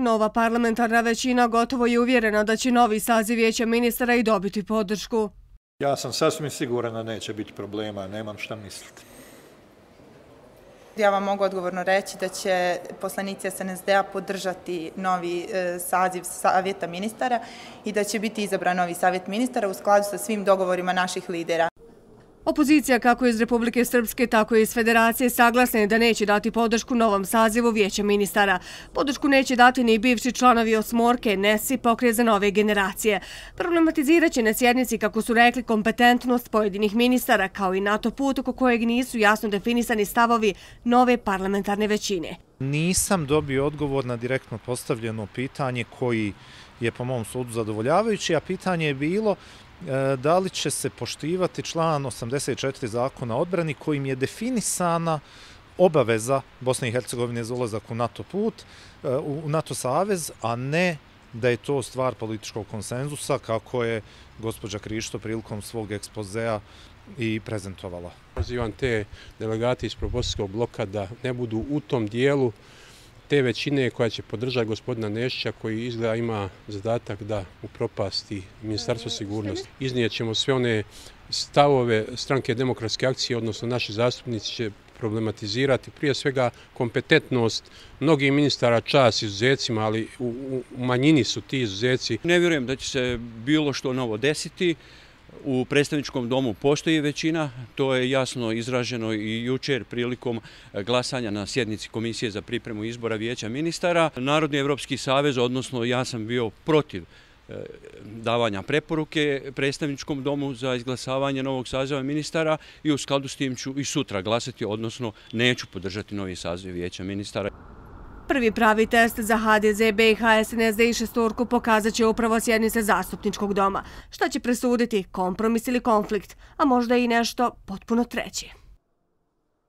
Nova parlamentarna većina gotovo je uvjerena da će novi saziv vijeća ministara i dobiti podršku. Ja sam sasvim siguran da neće biti problema, nemam šta misliti. Ja vam mogu odgovorno reći da će poslanici SNSD-a podržati novi saziv savjeta ministara i da će biti izabran novi savjet ministara u skladu sa svim dogovorima naših lidera. Opozicija kako iz Republike Srpske, tako i iz Federacije saglasna je da neće dati podršku novom sazivu vijeća ministara. Podršku neće dati ni bivši članovi osmorke, NES i Pokret za nove generacije. Problematizirat će na sjednici, kako su rekli, kompetentnost pojedinih ministara, kao i NATO put oko kojeg nisu jasno definisani stavovi nove parlamentarne većine. Nisam dobio odgovor na direktno postavljeno pitanje koji je po mom sudu zadovoljavajući, a pitanje je bilo da li će se poštivati član 84 Zakona o odbrani kojim je definisana obaveza Bosne i Hercegovine za ulazak u NATO put, u NATO savez, a ne da je to stvar političkog konsenzusa kako je gospođa Krišto prilikom svog ekspozea i prezentovala. Pozivam te delegate iz Propozicijskog bloka da ne budu u tom dijelu te većine koja će podržati gospodina Nešića, koji izgleda ima zadatak da upropasti Ministarstvo sigurnosti. Iznijet ćemo sve one stavove Stranke demokratske akcije, odnosno naši zastupnici će problematizirati prije svega kompetentnost mnogih ministara, čast izuzecima, ali u manjini su ti izuzeci. Ne vjerujem da će se bilo što novo desiti. U predstavničkom domu postoji većina, to je jasno izraženo i jučer prilikom glasanja na sjednici Komisije za pripremu izbora vijeća ministara. Narodni evropski savez, odnosno ja sam bio protiv davanja preporuke predstavničkom domu za izglasavanje novog saziva ministara i u skladu s tim ću i sutra glasati, odnosno neću podržati novi saziv vijeća ministara. Prvi pravi test za HDZ, BiH, SNSD i šestorku pokazat će upravo sjednice zastupničkog doma. Šta će presuditi, kompromis ili konflikt, a možda i nešto potpuno treće.